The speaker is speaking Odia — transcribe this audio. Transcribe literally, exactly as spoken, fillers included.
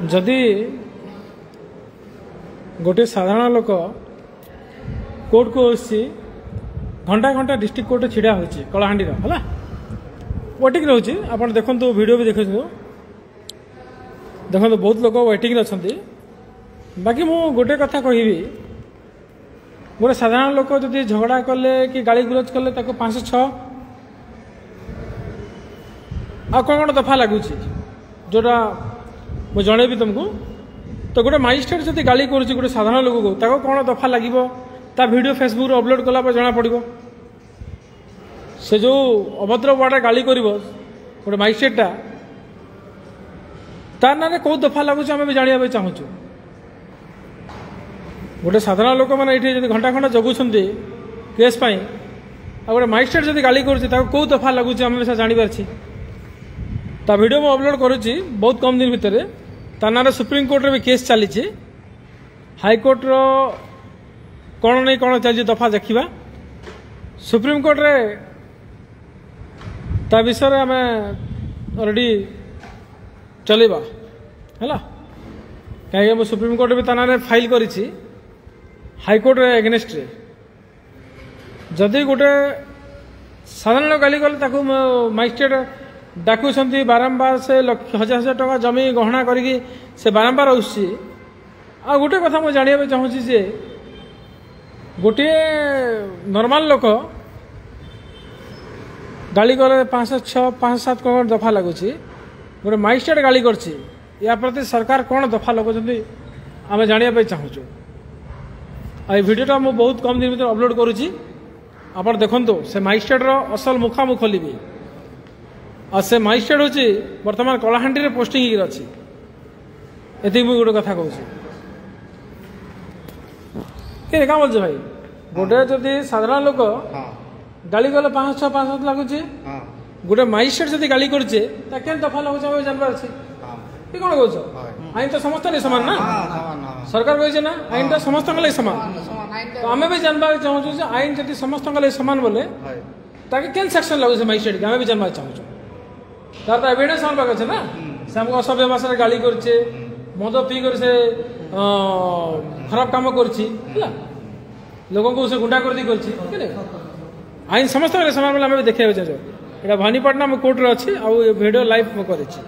ଯଦି ଗୋଟିଏ ସାଧାରଣ ଲୋକ କୋର୍ଟକୁ ଆସୁଛି, ଘଣ୍ଟା ଘଣ୍ଟା ଡିଷ୍ଟ୍ରିକ୍ଟ କୋର୍ଟରେ ଛିଡ଼ା ହେଉଛି କଳାହାଣ୍ଡିର, ହେଲା, ୱେଟିଂ ରହୁଛି। ଆପଣ ଦେଖନ୍ତୁ, ଭିଡ଼ିଓ ବି ଦେଖନ୍ତୁ, ଦେଖନ୍ତୁ, ବହୁତ ଲୋକ ୱେଟିଂରେ ଅଛନ୍ତି। ବାକି ମୁଁ ଗୋଟେ କଥା କହିବି, ଗୋଟେ ସାଧାରଣ ଲୋକ ଯଦି ଝଗଡ଼ା କଲେ କି ଗାଳି ଗୁଲଜ କଲେ, ତାକୁ ପାଞ୍ଚଶହ ଛଅ ଆଉ କ'ଣ କ'ଣ ଦଫା ଲାଗୁଛି, ଯେଉଁଟା ମୁଁ ଜଣେଇବି ତୁମକୁ। ତ ଗୋଟେ ମାଜିଷ୍ଟ୍ରେଟ୍ ଯଦି ଗାଳି କରୁଛି ଗୋଟେ ସାଧାରଣ ଲୋକକୁ, ତାକୁ କ'ଣ ଦଫା ଲାଗିବ, ତା ଭିଡ଼ିଓ ଫେସବୁକ୍ରେ ଅପଲୋଡ଼ କଲା ପରେ ଜଣାପଡ଼ିବ। ସେ ଯେଉଁ ଅଭଦ୍ର ୱାର୍ଡ଼ରେ ଗାଳି କରିବ ଗୋଟେ ମାଜିଷ୍ଟ୍ରେଟ୍ଟା, ତା ନାଁରେ କେଉଁ ଦଫା ଲାଗୁଛି, ଆମେ ବି ଜାଣିବା ପାଇଁ ଚାହୁଁଛୁ। ଗୋଟେ ସାଧାରଣ ଲୋକମାନେ ଏଇଠି ଯଦି ଘଣ୍ଟା ଘଣ୍ଟା ଜଗୁଛନ୍ତି କେସ୍ ପାଇଁ, ଆଉ ଗୋଟେ ମାଜିଷ୍ଟ୍ରେଟ୍ ଯଦି ଗାଳି କରୁଛି, ତାକୁ କେଉଁ ଦଫା ଲାଗୁଛି, ଆମେ ବି ଜାଣିପାରିଛି। ତା ଭିଡ଼ିଓ ମୁଁ ଅପଲୋଡ଼ କରୁଛି ବହୁତ କମ୍ ଦିନ ଭିତରେ। ତା ନାଁରେ ସୁପ୍ରିମକୋର୍ଟରେ ବି କେସ୍ ଚାଲିଛି। ହାଇକୋର୍ଟର କ'ଣ ନେଇ କ'ଣ ଚାଲିଛି ଦଫା ଦେଖିବା। ସୁପ୍ରିମକୋର୍ଟରେ ତା ବିଷୟରେ ଆମେ ଅଲରେଡ଼ି ଚଲେଇବା, ହେଲା, କାହିଁକି ମୁଁ ସୁପ୍ରିମକୋର୍ଟରେ ବି ତା ନାଁରେ ଫାଇଲ୍ କରିଛି, ହାଇକୋର୍ଟରେ ଏଗେନେଷ୍ଟରେ। ଯଦି ଗୋଟେ ସାଧାରଣ ଗାଳି କଲେ ତାକୁ ମାଜିଷ୍ଟ୍ରେଟ୍ ଡାକୁଛନ୍ତି ବାରମ୍ବାର, ସେ ଲକ୍ଷ ହଜାର ହଜାର ଟଙ୍କା ଜମି ଗହଣା କରିକି ସେ ବାରମ୍ବାର ଆସୁଛି। ଆଉ ଗୋଟେ କଥା ମୁଁ ଜାଣିବା ପାଇଁ ଚାହୁଁଛି ଯେ ଗୋଟିଏ ନର୍ମାଲ ଲୋକ ଗାଳି କଲେ ପାଞ୍ଚଶହ ଛଅ, ପାଞ୍ଚଶହ ସାତ କ'ଣ ଦଫା ଲାଗୁଛି, ଗୋଟେ ମାଜିଷ୍ଟ୍ରେଟ୍ ଗାଳି କରିଛି, ୟା ପ୍ରତି ସରକାର କ'ଣ ଦଫା ଲଗାଉଛନ୍ତି, ଆମେ ଜାଣିବା ପାଇଁ ଚାହୁଁଛୁ। ଆଉ ଏ ଭିଡ଼ିଓଟା ମୁଁ ବହୁତ କମ୍ ଦିନ ଭିତରେ ଅପଲୋଡ଼ କରୁଛି। ଆପଣ ଦେଖନ୍ତୁ, ସେ ମାଜିଷ୍ଟ୍ରେଟ୍ର ଅସଲ ମୁଖା ମୁଁ ଖୋଲିବି। ଆଉ ସେ ମାଜିଷ୍ଟ୍ରେଟ୍ ହେଉଛି ବର୍ତ୍ତମାନ କଳାହାଣ୍ଡିରେ ପୋଷ୍ଟିଂ ହେଇକି ଅଛି। ଏତିକି ମୁଁ ଗୋଟେ କଥା କହୁଛି କି କାମ ବୋଲୁଛ ଭାଇ, ଗୋଟେ ଯଦି ସାଧାରଣ ଲୋକ ଗାଳି କଲେ ପାଞ୍ଚଶହ ଛଅ, ପାଞ୍ଚଶହ ସାତ ଲାଗୁଛି, ଗୋଟେ ମାଜିଷ୍ଟ୍ରେଟ୍ ଯଦି ଗାଳି କରୁଛେ, ତା କେନ୍ ଦଫା ଲାଗୁଛି, ଆମେ ଜାଣିବାର ଅଛି କି କ'ଣ କହୁଛ? ଆଇନ ତ ସମସ୍ତଙ୍କ ସମାନ ନା? ସରକାର କହିছে ନା ଆଇନଟା ସମସ୍ତଙ୍କ ଲାଗି ସମାନ। ତ ଆମେ ବି ଜାଣିବାକୁ ଚାହୁଁଛୁ ଯେ ଆଇନ ଯଦି ସମସ୍ତଙ୍କ ଲାଗି ସମାନ ବୋଲେ, ତାକେ କେନ୍ ସେକ୍ସନ ଲାଗୁছে ମାଜିଷ୍ଟ୍ରେଟ୍, ଆମେ ବି ଜାଣିବାକୁ ଚାହୁଁଛୁ। ତାର ତ ଏଭିଡେନ୍ସ ଆମ ପାଖେ ଅଛି ନା। ସେ ଆମକୁ ଅସଭ୍ୟ ଭାଷାରେ ଗାଳି କରୁଛେ, ମଦ ପିଇ କରି ସେ ଖରାପ କାମ କରୁଛି, ହେଲା, ଲୋକଙ୍କୁ ସେ ଗୁଣ୍ଡା କରିଦେଇ କରୁଛି। ଆଇନ ସମସ୍ତଙ୍କ ସମାନ ବୋଲେ ଆମେ ବି ଦେଖିବାକୁ ଚାହୁଁଛୁ। ଏଇଟା ଭବାନୀପାଟଣା ମୁଁ କୋର୍ଟରେ ଅଛି ଆଉ ଏ ଭିଡ଼ିଓ ଲାଇଭ୍ ମୁଁ କରିଛି।